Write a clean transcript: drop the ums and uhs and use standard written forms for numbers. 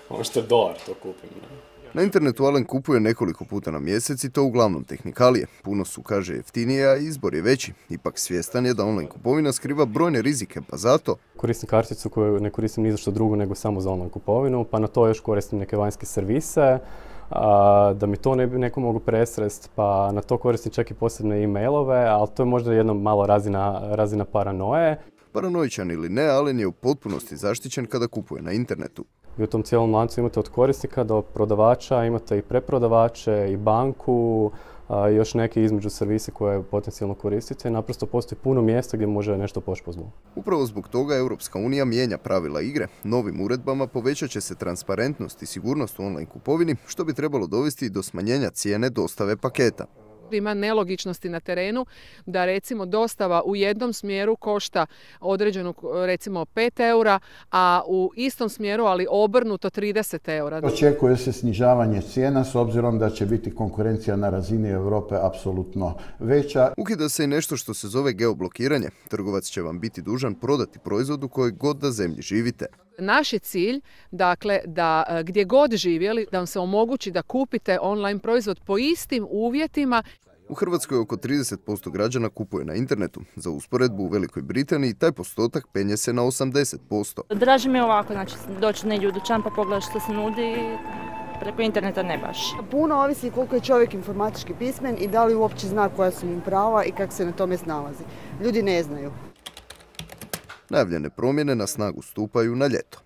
Ono što je dolar, to kupim. Na internetu Alen kupuje nekoliko puta na mjesec i to uglavnom tehnikalije. Puno su, kaže, jeftinije, a izbor je veći. Ipak svjestan je da online kupovina skriva brojne rizike, pa zato Koristim karticu koju ne koristim ni za što drugo nego samo za online kupovinu, pa na to još koristim neke vanjske servise, da mi to ne bi neko mogu presrest, pa na to koristim čak i posebne e-mailove, ali to je možda jedna malo razina paranoje. Paranoičan ili ne, Alen je u potpunosti zaštićen kada kupuje na internetu. I u tom cijelom lancu imate od korisnika do prodavača, imate i preprodavače, i banku, i još neki između servise koje potencijalno koristite. Naprosto postoji puno mjesta gdje može nešto poći po zlu. Upravo zbog toga Europska unija mijenja pravila igre. Novim uredbama povećat će se transparentnost i sigurnost u online kupovini, što bi trebalo dovesti do smanjenja cijene dostave paketa. Ima nelogičnosti na terenu da recimo dostava u jednom smjeru košta određenu recimo 5 eura, a u istom smjeru ali obrnuto 30 eura. Očekuje se snižavanje cijena s obzirom da će biti konkurencija na razini Europe apsolutno veća. Ukida se i nešto što se zove geoblokiranje. Trgovac će vam biti dužan prodati proizvod u kojoj god da zemlji živite. Naš je cilj, dakle, da gdje god živjeli, da vam se omogući da kupite online proizvod po istim uvjetima. U Hrvatskoj oko 30% građana kupuje na internetu. Za usporedbu u Velikoj Britaniji taj postotak penje se na 80%. Draže mi je ovako, znači doći negdje u dućan pa pogledati što se nudi, preko interneta ne baš. Puno ovisi koliko je čovjek informatički pismen i da li uopće zna koja su mu prava i kako se na tome snalazi. Ljudi ne znaju. Najavljene promjene na snagu stupaju na ljeto.